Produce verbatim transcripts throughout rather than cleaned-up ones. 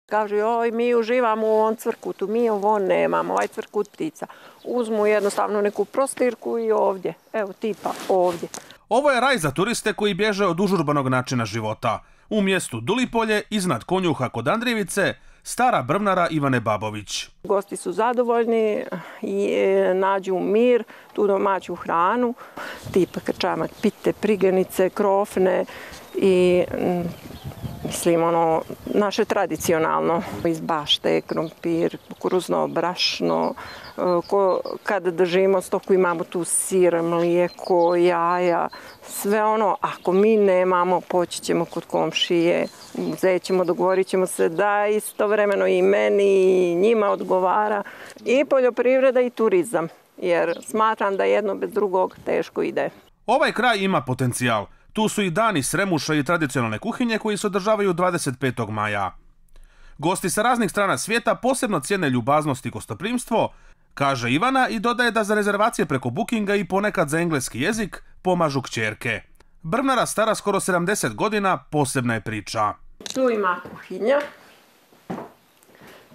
Kažu, joj, mi uživamo u ovom cvrkutu, mi ovo nemamo, ovaj cvrkut ptica. Uzmu jednostavno neku prostirku i ovdje, evo tipa ovdje. Ovo je raj za turiste koji bježe od užurbanog načina života. U mjestu Dulipolje, iznad Konjuha kod Andrijevice, stara brvnara Ivane Babović. Gosti su zadovoljni i nađu mir, tu domaću hranu, tipa krčamak, pite, prigenice, krofne i mislim ono naše tradicionalno. Iz bašte, krompir, kukuruzno brašno, kada držimo stoku imamo tu sir, mlijeko, jaja, sve ono, ako mi nemamo, poći ćemo kod komšije, uzet ćemo, dogovorit ćemo se da istovremeno i meni i njima odgovara i poljoprivreda i turizam, jer smatram da jedno bez drugog teško ide. Ovaj kraj ima potencijal. Tu su i dani sremuša i tradicionalne kuhinje koji se održavaju dvadeset petog maja. Gosti sa raznih strana svijeta posebno cijene ljubaznost i gostoprimstvo, kaže Ivana i dodaje da za rezervacije preko bookinga i ponekad za engleski jezik pomažu kćerke. Brvnara stara skoro sedamdeset godina posebna je priča. Tu ima kuhinja.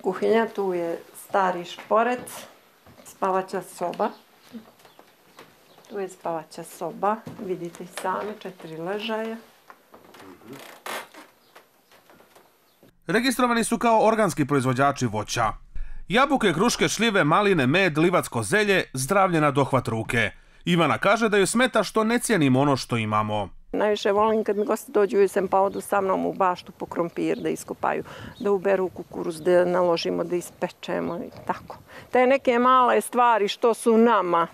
Kuhinja, tu je stari šporet, spavaća soba. Tu je spavaća soba, vidite i sami, četiri ležaja. Registrovani su kao organski proizvođači voća. Jabuke, kruške, šljive, maline, med, livatsko zelje, zdravlje na dohvat ruke. Ivana kaže da joj smeta što ne cijenimo ono što imamo. Najviše volim kad mi gosti dođu u jesen pa odu sa mnom u baštu po krompir da iskopaju, da uberu kukuruz, da naložimo, da ispečemo i tako. Te neke male stvari što su nama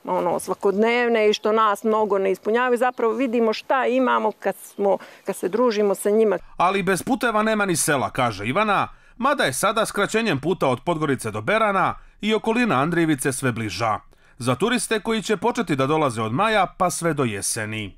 ono, svakodnevne i što nas mnogo ne ispunjavaju, zapravo vidimo šta imamo kad, smo, kad se družimo sa njima. Ali bez puteva nema ni sela, kaže Ivana, mada je sada skraćenjem puta od Podgorice do Berana i okolina Andrijevice sve bliža. Za turiste koji će početi da dolaze od maja pa sve do jeseni.